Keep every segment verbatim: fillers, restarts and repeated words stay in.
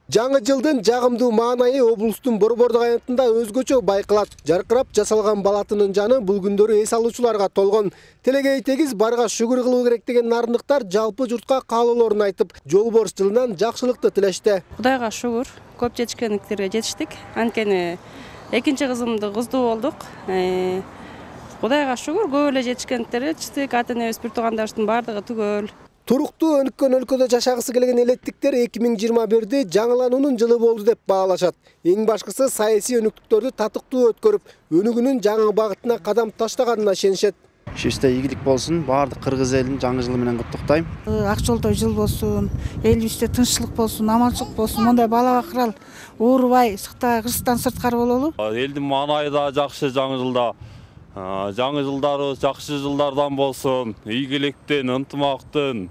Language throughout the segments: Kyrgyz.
Жаңы жылдын жагымдуу маанайы облустун Борбордук аянтында өзгөчө байкалат. Жаркырап жасалган балатынын жаны бул күндөрү эс алуучуларга толгон. Телегей тегиз барга шүгүр кылуу керек деген нарындыктар жалпы журтка каалоолорун айтып, жолборс жылынан жакшылыкты тилешти. Кудайга шүгүр, көп жетишкендиктерге жетиштик. Анткени экинчи кызымды кыздуу болдук. Кудайга шүгүр, көп эле жетишкендиктерге жетиштик. Ата энебиз, бир туугандарыбыздын бардыгы түгөл. Туруктуу өнүккөн өлкөдө жашагысы келген элеттиктер эки миң жыйырма бирди жаңылануунун жылы болду деп баалашат. Эң башкысы саясий өнүктүктөрдү татыктуу өткөрүп, өнүгүүнүн жаңы багытына кадам таштаганына ишенишет. Ишибизде ийгилик болсун, баардык кыргыз элин жаңы жылы менен куттуктайм. Ак жолдой жыл болсун, элибизде тынччылык болсун, аманчылык болсун, мондай бала бакырал оорубай, сыктабай кыргызстан сырткары бололу. Элдин маанайы да жакшы жаңы жылда. Жаңы жылдарыбыз жакшы жылдардан болсун, ийгиликтин, ынтымактын,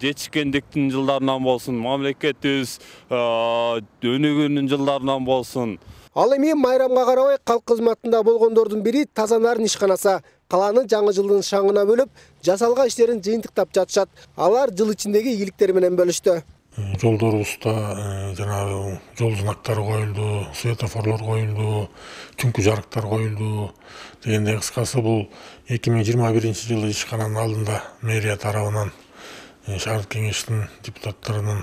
жетишкендиктин жылдарынан болсун, мамлекетибиз өнүгүүнүн жылдарынан болсун. Ал эми майрамга карабай калк кызматында болгондордун бири Таза Нарын ишканасы. Калааны жаңы жылдын шаңына бөлүп, жасалган иштерин жыйынтыктап жатышат. Алар жыл ичиндеги ийгиликтери менен бөлүштү. Жолдорубузда жанагы жол знактары коюлду, светофорлор коюлду, түнкү жарыктар коюлду. Дегенде кыскасы бул эки миң жыйырма биринчи жылы ишкананын алдында мэрия тарабынан, шаардык кеңештин депутаттарынын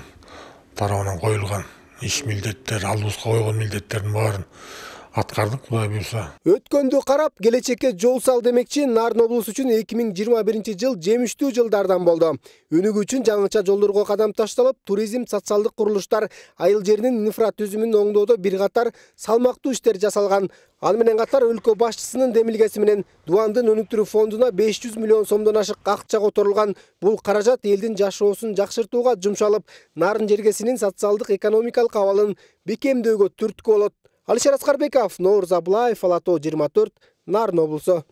тарабынан коюлган иш милдеттер, алдыбызга койгон милдеттердин баарын аткардык, Кудай буйруса. Өткөндү карап, келечекке жол сал демекчи Нарын облусу үчүн эки миң жыйырма биринчи жыл жемиштүү жылдардан болду. Өнүгүү үчүн жаңыча жолдорго кадам ташталып, туризм, социалдык курулуштар, айыл жеринин инфратүзүмүн оңдоодо бир катар салмактуу иштер жасалган. Ал менен катар өлкө башчысынын демилгеси менен Дубандын өнүктүрүү фондуна беш жүз миллион сомдон ашык акча которулган. Бул каражат элдин жашоосун жакшыртууга жумшалып, Нарын жергесинин социалдык экономикалык абалын бекемдөөгө түрткү болот. Алишер Аскарбеков, Нооруз Абылаев, Ала тоо жыйырма төрт, Нарын облусу.